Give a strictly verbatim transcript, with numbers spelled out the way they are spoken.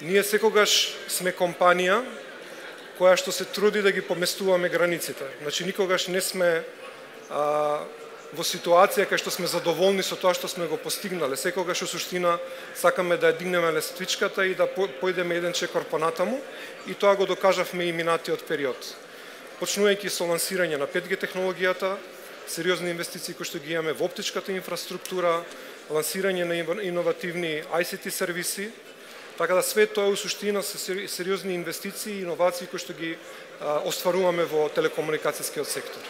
Ние секогаш сме компанија која што се труди да ги поместуваме границите. Значи, никогаш не сме а, во ситуација кај што сме задоволни со тоа што сме го постигнале. Секогаш во суштина сакаме да ја дигнеме лествичката и да појдеме еден чекор понатаму, и тоа го докажавме и минатиот период. Почнувајќи со лансирање на пет G технологијата, сериозни инвестиции кои што ги имаме во оптичката инфраструктура, лансирање на иновативни I C T сервиси, така да све тоа во суштина се сериозни инвестиции и иновации кои што ги а, остваруваме во телекомуникацијскиот сектор.